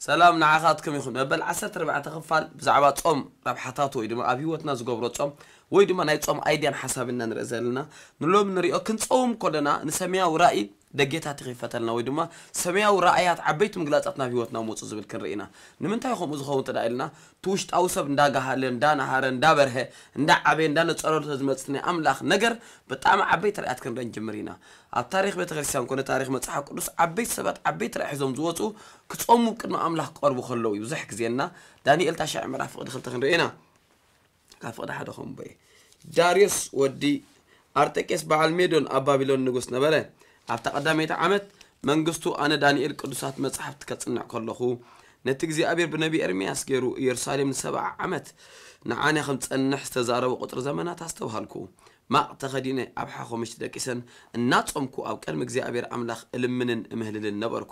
ሰላም ንዓኻትኩም ይኹን። መበል ዓሰርተ ኣርባዕተ ክፋል ብዛዕባ ጾም ረብሓታቱ ወይ ድማ ኣብ ህይወትና ዝገብሮ ጾም ወይ ድማ ናይ ጾም ኣይድያን ሓሳብና ንርኢ ዘለና። ንሎም ንሪኦ ክንጸውም ከለና ንሰማያዊ ራእይ ደጌታት ይኸፈተልና ወይ ድማ ሰማያዊ ራእያት ዓበይቲ ምግላጻት ናብ ህይወትና መጹ ዝብል ክንርኢ ኢና። ንምንታይ ከምኡ ዝኸውን እንተ ደኣ ኢልና እቲ ውሽጣዊ ሰብ እንዳጋሃለ እንዳናሃረ እንዳበርሀ እንዳዓበየ እንዳነጸረሉ ዝመጽእ ናይ ኣምላኽ ነገር ብጣዕሚ ዓበይቲ ራእያት ክንርኢ ንጅምር ኢና። ኣብ ታሪኽ ቤተክርስትያን ኮነ ታሪኽ መጽሓፍ ቅዱስ ዓበይቲ ሰባት ዓበይቲ ራእይ ሒዞም ዝወጹ ክጾሙ ቅድሚ ኣምላኽ ክቐርቡ ከለዉ እዩ። ብዙሕ ግዜና ዳንኤል ታሽዐ ምዕራፍ ፍቕዲ ክልተ ክንርኢ ኢና። ካብ ፍቕዲ ሓደ ከምቦ እዩ። ዳርዮስ ወዲ ኣርጠቄስ በዓል ሜዶን ኣብ ባቢሎን ንጉስ ነበረ። ኣብታ ቀዳመይቲ ዓመት መንግስቱ ኣነ ዳንኤል ቅዱሳት መጻሕፍቲ ከጽንዕ ከለኹ ነቲ እግዚኣብሔር ብነቢ ኤርምያስ ገይሩ ኢየሩሳሌም ንሰብዓ ዓመት ንዓነ ከም ጸንሕ ዝተዛረቦ ቁጽሪ ዘመናት ኣስተብሃልኩ። ማቕ ተኸዲነ ኣብ ሓኾ ምሽቲ ደቂሰን እናጾምኩ ኣብ ቅድሚ እግዚኣብሔር ኣምላኽ እልምንን እምህልልን ነበርኩ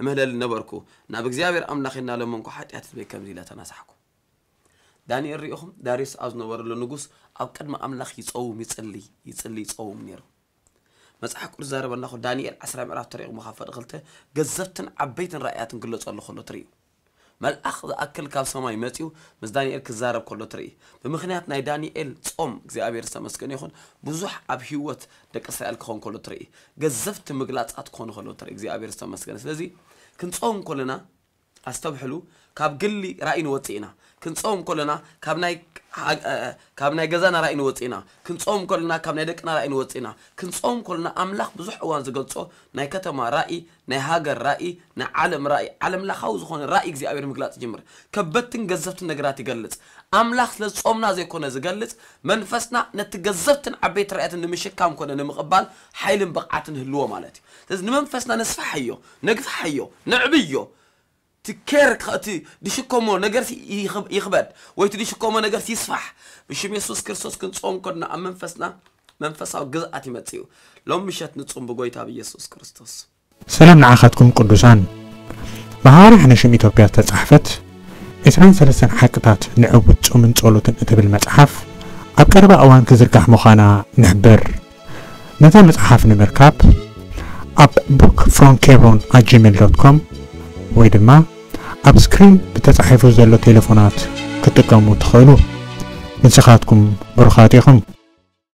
እምህለልን ነበርኩ። ናብ እግዚኣብሔር ኣምላኽ እናለመንኩ ሓጢኣት ህዝበይ ከምዚ ኢለ ተናሳሕኩ። ዳንኤል ርኢኹም ዳርዮስ ኣብ ዝነበረሉ ንጉስ ኣብ ቅድሚ ኣምላኽ ይጸውም ይጽሊ ይጽሊ ይጸውም ነይሩ። መጽሓፍ ቅዱስ ዛረበና ኮ ዳንኤል ዓስራ ምዕራፍ ተሪቑ መኻፈል ክልተ ገዘፍትን ዓበይትን ራእያትን ክግለጸሉ ከሎ ትርእዩ። መልኣኽ ዝኣክል ካብ ሰማይ መጺኡ ምስ ዳንኤል ክዛረብ ከሎ ትርኢ። ብምኽንያት ናይ ዳንኤል ጾም እግዚኣብሔር ዝተመስገነ ይኹን ብዙሕ ኣብ ህይወት ደቂ እስራኤል ክኾን ከሎ ትርኢ። ገዘፍቲ ምግላጻት ክኾኑ ከሎ ትርኢ። እግዚኣብሔር ዝተመስገነ። ስለዚ ክንጾም ከለና ኣስተብሕሉ፣ ካብ ግሊ ራእይ ንወጽእ ኢና። ክንጾም ከለና ካብ ናይ ካብ ናይ ገዛና ራእይ ንወጽእ ኢና። ክንጾም ከለና ካብ ናይ ደቅና ራእይ ንወጽእ ኢና። ክንጾም ከለና ኣምላኽ ብዙሕ እዋን ዝገልጾ ናይ ከተማ ራእይ፣ ናይ ሃገር ራእይ፣ ናይ ዓለም ራእይ፣ ዓለም ለኻዊ ዝኾነ ራእይ እግዚኣብሔር ምግላጽ ይጅምር። ከበድትን ገዘፍትን ነገራት ይገልጽ። ኣምላኽ ስለ ዝጾምና ዘይኮነ ዝገልጽ፣ መንፈስና ነቲ ገዘፍትን ዓበይቲ ራእያትን ንምሽካም ኮነ ንምቕባል ሓይልን ብቕዓትን ህልዎ ማለት እዩ። ስለዚ ንመንፈስና ነስፍሓዮ፣ ነግፍሓዮ፣ ነዕብዮ። እቲ ኬር እቲ ድሽከሞ ነገር ይኽበድ ወይ እቲ ድሽከሞ ነገር ይስፋሕ። ብሽም የሱስ ክርስቶስ ክንጾም ከድና ኣብ መንፈስና መንፈሳዊ ግዝኣት ይመጽእ እዩ። ሎም ምሸት ንጹም ብጎይታ ብየሱስ ክርስቶስ። ሰላም ንዓኻትኩም ቅዱሳን። ብሃዋርያ ሕነሽም ኢትዮጵያ ዝተጻሕፈት ዕስራን ሰለስተን ሓቅታት ንዕቡት ጾምን ጸሎትን እትብል መጽሓፍ ኣብ ቀረባ እዋን ክዝርጋሕ ምዃና ንሕብር። ነታ መጽሓፍ ንምርካብ ኣብ book from hebron at gmail dot com ወይ ድማ ኣብ ስክሪን ብተጻሒፉ ዘሎ ቴሌፎናት ክትጥቀሙ ትኽእሉ። ንስኻትኩም ብሩኻት ኢኹም።